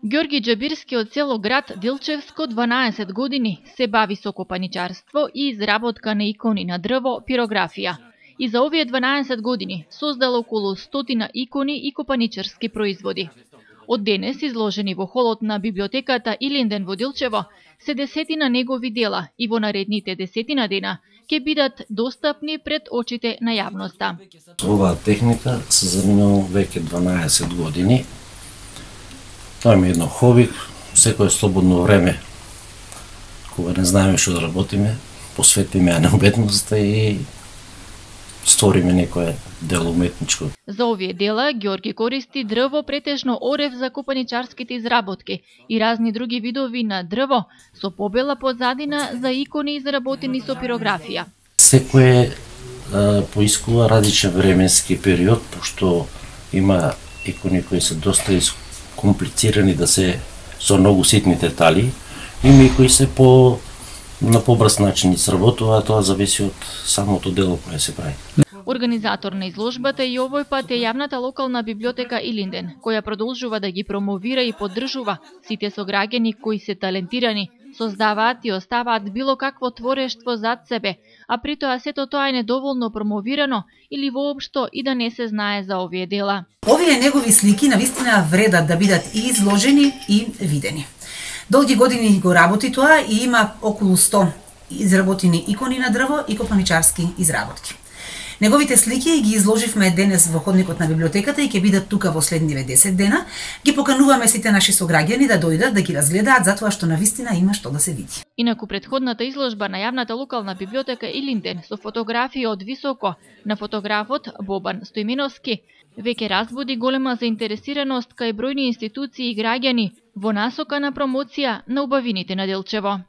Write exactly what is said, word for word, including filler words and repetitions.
Ѓорги Џабирски од село град Дилчевско дванаесет години се бави со копаничарство и изработка на икони на дрво, пирографија. И за овие дванаесет години создал околу стотина икони и копаничарски производи. Од денес изложени во холот на библиотеката Илинден во Дилчево се десетина негови дела и во наредните десетина дена ќе бидат достапни пред очите на јавноста. Оваа техника се занимавам веќе дванаесет години. Тоа ми е едно хоби, секое слободно време, кога не знаеме што да работиме, посветиме ја на уметноста и створиме некое дело уметничко. За овие дела Ѓорги користи дрво, претежно орев за копаничарските изработки и разни други видови на дрво со побела позадина за икони изработени со пирографија. Секое поискува различен временски период, пошто има икони кои се доста комплицирани да се со многу ситни детали, има и кои се по на побрз начин изработува, тоа зависи од самото дело кое се прави. Организатор на изложбата и овој пат е јавната локална библиотека Илинден, која продолжува да ги промовира и поддржува сите сограѓани кои се талентирани, создаваат и оставаат било какво творештво зад себе, а при тоа сето тоа е недоволно промовирано или воопшто и да не се знае за овие дела. Овие негови слики навистина вредат да бидат и изложени и видени. Долги години го работи тоа и има околу сто изработени икони на дрво и копаничарски изработки. Неговите слики ги изложивме денес во ходникот на библиотеката и ќе бидат тука во следниве десет дена. Ги покануваме сите наши сограѓани да дојдат да ги разгледаат, затоа што навистина има што да се види. Инаку претходната изложба на јавната локална библиотека Илинден со фотографии од високо на фотографот Бобан Стојминовски веќе разбуди голема заинтересираност кај бројни институции и граѓани во насока на промоција на убавините на Делчево.